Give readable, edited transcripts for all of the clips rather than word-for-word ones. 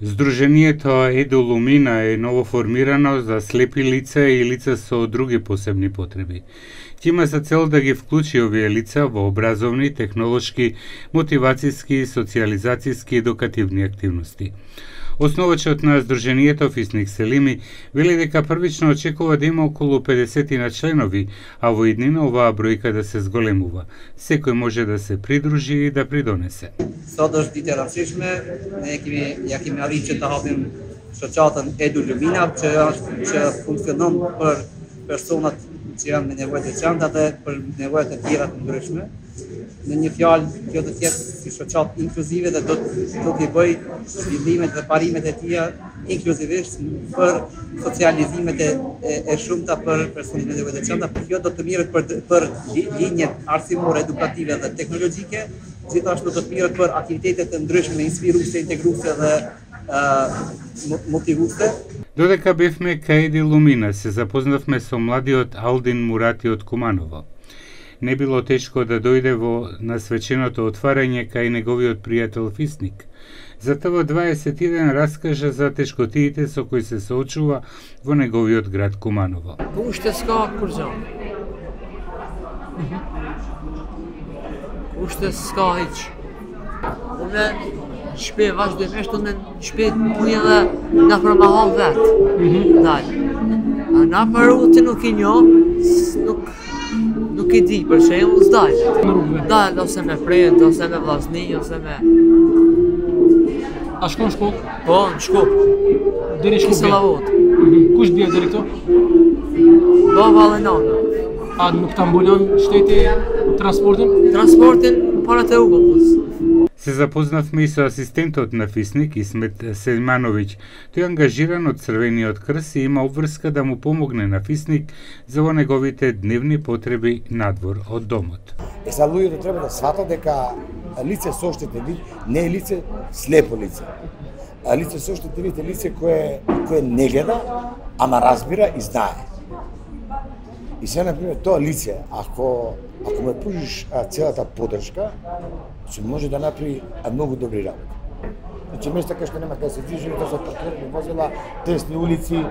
Здруженијето Едолумина е новоформирано за слепи лица и лица со други посебни потреби. Ќе има за цел да ги вклучи овие лица во образовни, технолошки, мотивацијски, социјализацијски и едукативни активности. Основачот на Здруженијето Фисник Селими вели дека првично очекува да има околу 50 на членови, а во иднина оваа бројка да се зголемува. Секој може да се придружи и да придонесе. Sot është ditë e rëndësishme, ne kemi arritur që të hapim shoqatën Edolumina që funksionon për personat që janë me nevojë të veçanta dhe për nevojë të tjera të ndryshme. Në një fjalë, kjo do të jetë si shoqatë inkluzive dhe do t'i bëj zhvillimet dhe parimet e tija inkluzivisht për socializimet e shumta për personat me nevojë të veçanta. Kjo do të mirët për linjet arsimore, edukative dhe teknologjike, gjithashtu do të mirët për aktivitetet të ndryshme, inspiruese, integruese dhe мотивусе. Додека бевме кај Едолумина, се запознавме со младиот Алдин Мурати од Куманово. Не било тешко да дојде во насвеченото отварање кај неговиот пријател Фисник. Затоа 21 раскажа за тешкотиите со кои се соочува во неговиот град Куманово. Уште ска курзон. Уште ска hiç. Unë shpe vazhdimisht unë shpe punja dhe na për ma hap vetë. Dalë. Na për rrutin nuk i njo, nuk i di, për shembull s'dalë. Dalë ose me prind, ose me vllazni, ose me... A shkon shkollë? Po, në shkollë. Deri shkollë? Kisa lavot. Kush bje deri këto? Baba dhe nana. A nuk ta mbulon shteti transportin? Transportin para të rrugës. Се запознавме и со асистентот на Фисник, Исмет Селмановиќ. Тој е ангажиран од Црвениот крст и има обврска да му помогне на Фисник за во неговите дневни потреби надвор од домот. Сега луѓето треба да сватат дека лице со оштетен вид не е лице слепо лице. А лице со оштетен вид е лице кое не гледа, ама разбира и знае. И сега, например, тоа лице, ако му пружиш целата поддршка, ќе може да направи многу добри работи. Значи, места кај што нема кај се движи, да се паркирани возила, тесни улици,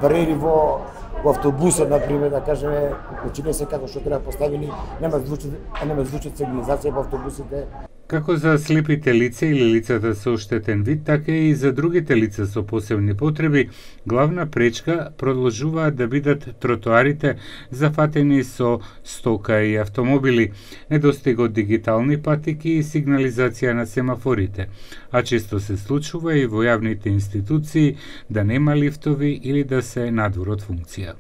бариери во автобусот, например, да кажеме, значи не се како што треба поставени, нема звучат сигнализација во автобусите. Како за слепите лица или лицата со оштетен вид, така и за другите лица со посебни потреби, главна пречка продолжуваат да бидат тротоарите зафатени со стока и автомобили, недостиг од дигитални патики и сигнализација на семафорите, а често се случува и во јавните институции да нема лифтови или да се надвор од функција.